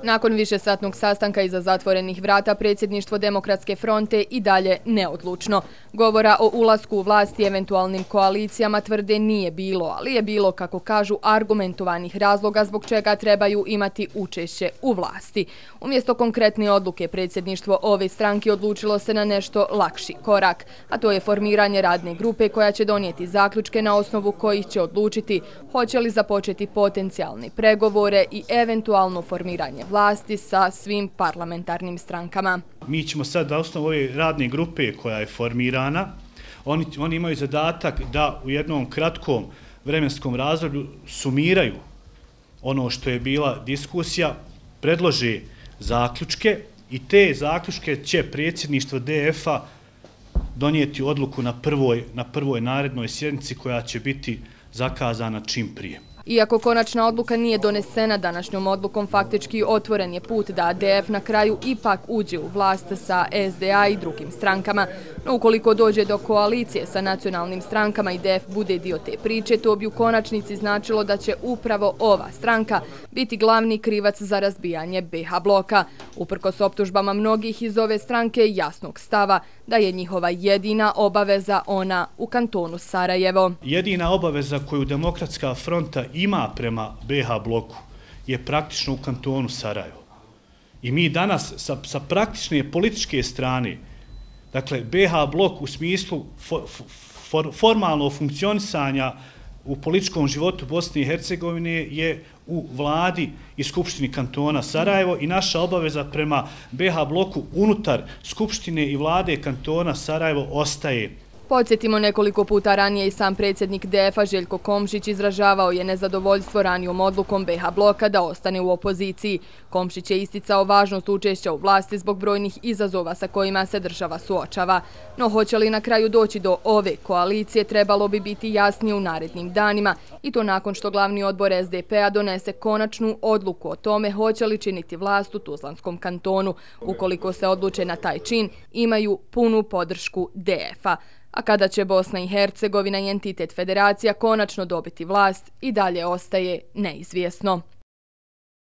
Nakon višesatnog sastanka iza zatvorenih vrata, predsjedništvo Demokratske fronte i dalje neodlučno. Govora o ulasku u vlast i eventualnim koalicijama tvrde nije bilo, ali je bilo, kako kažu, argumentovanih razloga zbog čega trebaju imati učešće u vlasti. Umjesto konkretne odluke, predsjedništvo ove stranke odlučilo se na nešto lakši korak, a to je formiranje radne grupe koja će donijeti zaključke na osnovu kojih će odlučiti hoće li započeti potencijalne pregovore i eventualno formiranje vlasti sa svim parlamentarnim strankama. Mi ćemo sad na osnovu ove radne grupe koja je formirana, oni imaju zadatak da u jednom kratkom vremenskom razdoblju sumiraju ono što je bila diskusija, predlože zaključke i te zaključke će predsjedništvo DF-a donijeti odluku na prvoj narednoj sjednici koja će biti zakazana čim prije. Iako konačna odluka nije donesena, današnjom odlukom faktički otvoren je put da DF na kraju ipak uđe u vlast sa SDA i drugim strankama. No ukoliko dođe do koalicije sa nacionalnim strankama i DF bude dio te priče, to bi u konačnici značilo da će upravo ova stranka biti glavni krivac za razbijanje BiH bloka. Uprkos optužbama mnogih iz ove stranke jasnog stava da je njihova jedina obaveza ona u kantonu Sarajevo. Jedina obaveza koju Demokratska fronta ima prema BiH bloku je praktično u kantonu Sarajevo. I mi danas sa praktične političke strane, dakle BiH blok u smislu formalnog funkcionisanja u političkom životu Bosne i Hercegovine je u vladi i skupštini kantona Sarajevo i naša obaveza prema BiH bloku unutar skupštine i vlade kantona Sarajevo ostaje. Podsjetimo, nekoliko puta ranije i sam predsjednik DF-a Željko Komšić izražavao je nezadovoljstvo ranijom odlukom BiH bloka da ostane u opoziciji. Komšić je isticao važnost učešća u vlasti zbog brojnih izazova sa kojima se država suočava. No hoće li na kraju doći do ove koalicije trebalo bi biti jasnije u narednim danima i to nakon što glavni odbor SDP-a donese konačnu odluku o tome hoće li činiti vlast u Tuzlanskom kantonu. Ukoliko se odluče na taj čin, imaju punu podršku DF-a. A kada će Bosna i Hercegovina i entitet federacija konačno dobiti vlast, i dalje ostaje neizvjesno.